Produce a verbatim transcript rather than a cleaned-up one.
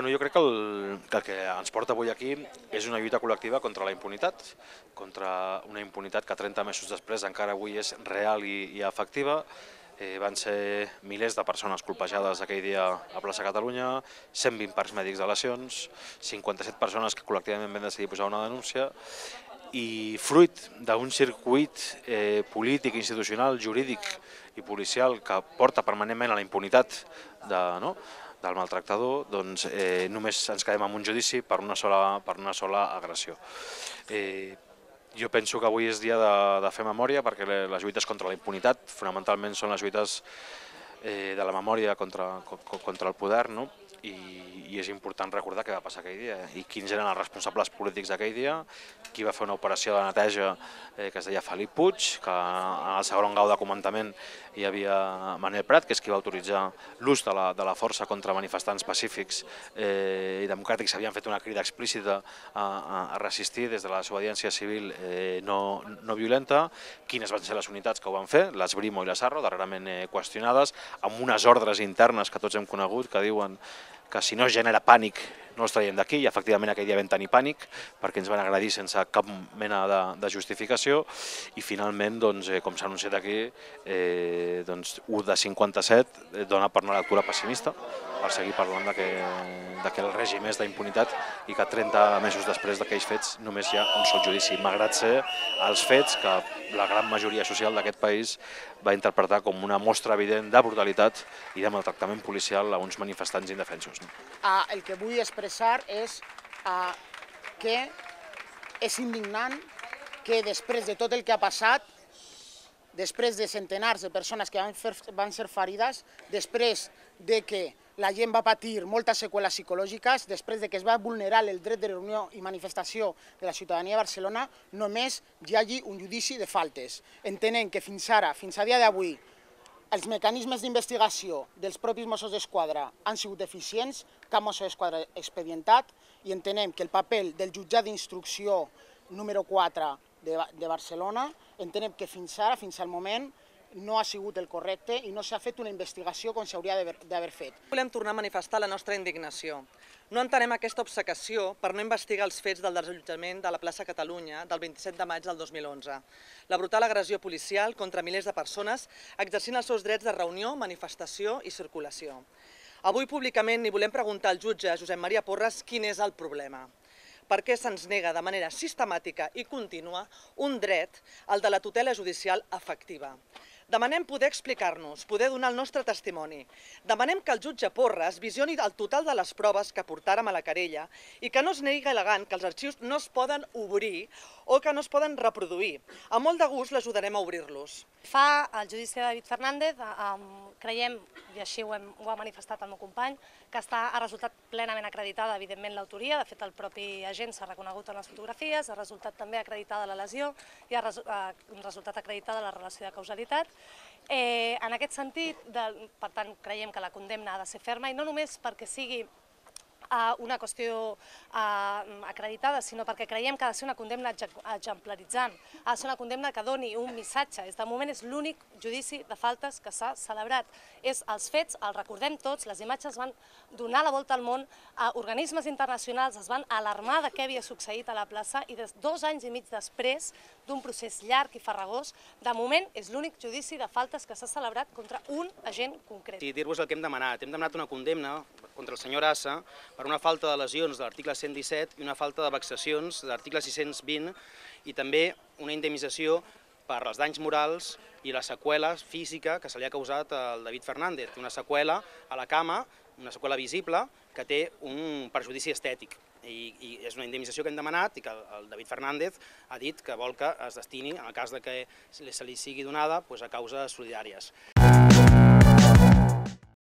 Bueno, jo crec que el, que el que ens porta avui aquí és una lluita col·lectiva contra la impunitat, contra una impunitat que trenta mesos després encara avui és real i, i efectiva. Eh, van ser milers de persones colpejades aquell dia a plaça Catalunya, cent vint parcs mèdics de lesions, cinquanta-set persones que col·lectivament van decidir posar una denúncia, i fruit d'un circuit eh, polític, institucional, jurídic i policial que porta permanentment a la impunitat de, no? del maltractador, doncs eh, només ens quedem amb un judici per una sola, per una sola agressió. Eh, jo penso que avui és dia de, de fer memòria, perquè les lluites contra la impunitat fonamentalment són les lluites eh, de la memòria contra, contra el poder, no? I, i és important recordar què va passar aquell dia i quins eren els responsables polítics d'aquell dia, qui va fer una operació de neteja eh, que es deia Felip Puig, que al segon grau de comandament hi havia Manel Prat, que és qui va autoritzar l'ús de, la, de la força contra manifestants pacífics eh, i democràtics. Havien fet una crida explícita a, a resistir des de la desobediència civil eh, no, no violenta. Quines van ser les unitats que ho van fer? L'Esbrimo i la Sarro, darrerament eh, qüestionades, amb unes ordres internes que tots hem conegut que diuen que si no es genera pànic no els traiem d'aquí, i efectivament aquell dia vam tenir pànic perquè ens van agredir sense cap mena de, de justificació, i finalment, doncs, eh, com s'ha anunciat aquí, eh, doncs, u de cinquanta-set dona per una lectura pessimista, per seguir parlant de que, de que el règim és d'impunitat i que trenta mesos després d'aquells fets només hi ha un sol judici, malgrat ser els fets que la gran majoria social d'aquest país va interpretar com una mostra evident de brutalitat i de maltractament policial a uns manifestants indefensos. No? Uh, el que vull expressar és uh, que és indignant que després de tot el que ha passat, després de centenars de persones que van, fer, van ser ferides, després de que la gent va patir moltes seqüeles psicològiques, després de que es va vulnerar el dret de reunió i manifestació de la ciutadania de Barcelona, només hi hagi un judici de faltes. Entenem que fins ara, fins a dia d'avui, els mecanismes d'investigació dels propis Mossos d'Esquadra han sigut deficients, cap Mosso d'Esquadra expedientat, i entenem que el paper del jutjat d'instrucció número quatre de, de Barcelona, entenem que fins ara, fins al moment, no ha sigut el correcte i no s'ha fet una investigació com s'hauria d'haver fet. Volem tornar a manifestar la nostra indignació. No entenem aquesta obcecació per no investigar els fets del desallotjament de la plaça Catalunya del vint-i-set de maig del dos mil onze. La brutal agressió policial contra milers de persones exercint els seus drets de reunió, manifestació i circulació. Avui públicament li volem preguntar al jutge Josep Maria Porras quin és el problema. Per què se'ns nega de manera sistemàtica i contínua un dret, el de la tutela judicial efectiva. Demanem poder explicar-nos, poder donar el nostre testimoni. Demanem que el jutge Porras visioni el total de les proves que portàrem a la querella i que no es negui al·legant que els arxius no es poden obrir o que no es poden reproduir. Amb molt de gust l'ajudarem a obrir-los. Fa el judici de David Fernández, creiem, i així ho, hem, ho ha manifestat el meu company, que està, ha resultat plenament acreditada, evidentment, l'autoria. De fet, el propi agent s'ha reconegut en les fotografies, ha resultat també acreditada la lesió i ha resultat acreditada la relació de causalitat. Eh, en aquest sentit, de, per tant, creiem que la condemna ha de ser ferma, i no només perquè sigui una qüestió acreditada, sinó perquè creiem que ha de ser una condemna exemplaritzant, ha de ser una condemna que doni un missatge. De moment és l'únic judici de faltes que s'ha celebrat. És els fets, els recordem tots, les imatges van donar la volta al món, organismes internacionals es van alarmar de què havia succeït a la plaça, i dos anys i mig després d'un procés llarg i farragós, de moment és l'únic judici de faltes que s'ha celebrat contra un agent concret. I dir-vos el que hem demanat. Hem demanat una condemna contra el senyor Assa per una falta de lesions de l'article cent disset i una falta de vexacions de l'article sis-cents vint, i també una indemnització per els danys morals i la seqüela física que se li ha causat al David Fernández, una seqüela a la cama, una seqüela visible que té un perjudici estètic. I, i és una indemnització que hem demanat i que el David Fernández ha dit que vol que es destini, en el cas de que se li sigui donada, a causes solidàries.